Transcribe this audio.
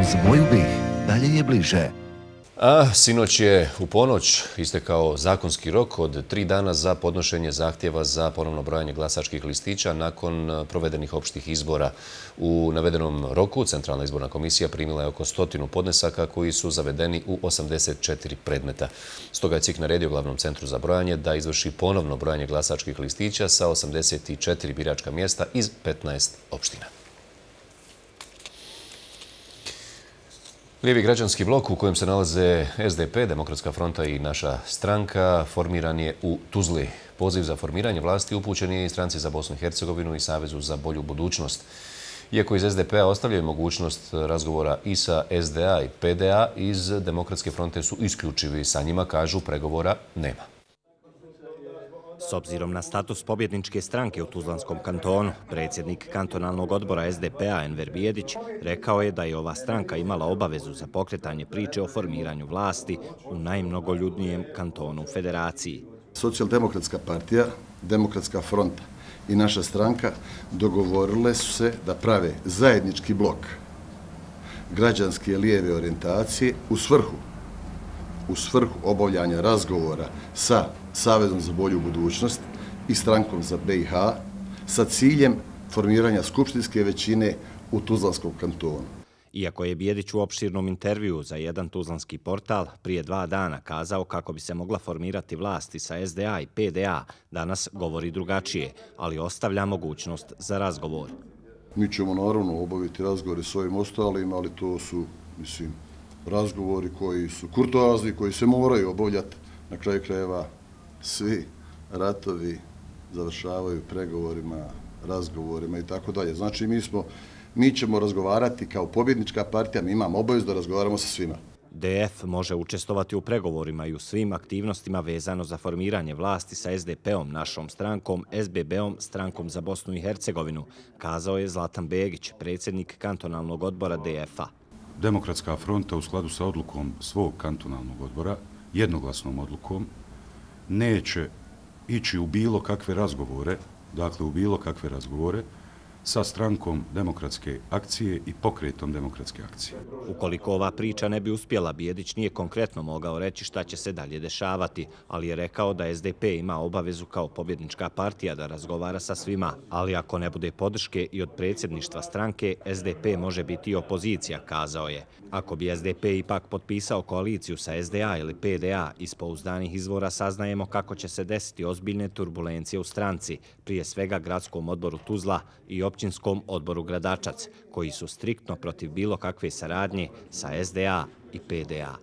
Uz moju bih, dalje je bliže. A sinoć je u ponoć istekao zakonski rok od 3 dana za podnošenje zahtjeva za ponovno brojanje glasačkih listića nakon provedenih opštih izbora. U navedenom roku Centralna izborna komisija primila je oko 100 podnesaka koji su zavedeni u 84 predmeta. Stoga je CIK naredio Glavnom centru za brojanje da izvrši ponovno brojanje glasačkih listića sa 84 biračka mjesta iz 15 opština. Lijevi građanski blok u kojem se nalaze SDP, Demokratska fronta i naša stranka formiran je u Tuzli. Poziv za formiranje vlasti upućen je i Stranci za Bosnu i Hercegovinu i Savezu za bolju budućnost. Iako iz SDP-a ostavljaju mogućnost razgovora i sa SDA i PDA, iz Demokratske fronte su isključivi. Sa njima, kažu, pregovora nema. S obzirom na status pobjedničke stranke u Tuzlanskom kantonu, predsjednik kantonalnog odbora SDP-a Enver Bijedić rekao je da je ova stranka imala obavezu za pokretanje priče o formiranju vlasti u najmnogoljudnijem kantonu u federaciji. Socijaldemokratska partija, Demokratska fronta i naša stranka dogovorile su se da prave zajednički blok građanske lijeve orijentacije u svrhu obavljanja razgovora sa Savezom za bolju budućnost i Strankom za BiH sa ciljem formiranja skupštinske većine u Tuzlanskom kantonu. Iako je Bijedić u opširnom intervjuu za jedan tuzlanski portal prije 2 dana kazao kako bi se mogla formirati vlasti sa SDA i PDA, danas govori drugačije, ali ostavlja mogućnost za razgovor. Mi ćemo naravno obaviti razgovore s ovim ostalim, ali to su, razgovori koji su kurtoazni, koji se moraju obavljati. Na kraju krajeva svi ratovi završavaju pregovorima, razgovorima i tako dalje. Znači mi ćemo razgovarati kao pobjednička partija, mi imamo obavezu da razgovaramo sa svima. DF može učestvovati u pregovorima i u svim aktivnostima vezano za formiranje vlasti sa SDP-om, našom strankom, SBB-om, Strankom za Bosnu i Hercegovinu, kazao je Zlatan Begić, predsjednik kantonalnog odbora DF-a. Demokratska fronta u skladu sa odlukom svog kantonalnog odbora, jednoglasnom odlukom, neće ići u bilo kakve razgovore, sa Strankom demokratske akcije i Pokretom demokratske akcije. Ukoliko ova priča ne bi uspjela, Bijedić nije konkretno mogao reći šta će se dalje dešavati, ali je rekao da SDP ima obavezu kao pobjednička partija da razgovara sa svima, ali ako ne bude podrške i od predsjedništva stranke, SDP može biti i opozicija, kazao je. Ako bi SDP ipak potpisao koaliciju sa SDA ili PDA, iz pouzdanih izvora saznajemo kako će se desiti ozbiljne turbulencije u stranci, prije svega gradskom odboru Tuzla i općinskom odboru Gradačac, koji su striktno protiv bilo kakve saradnje sa SDA i PDA.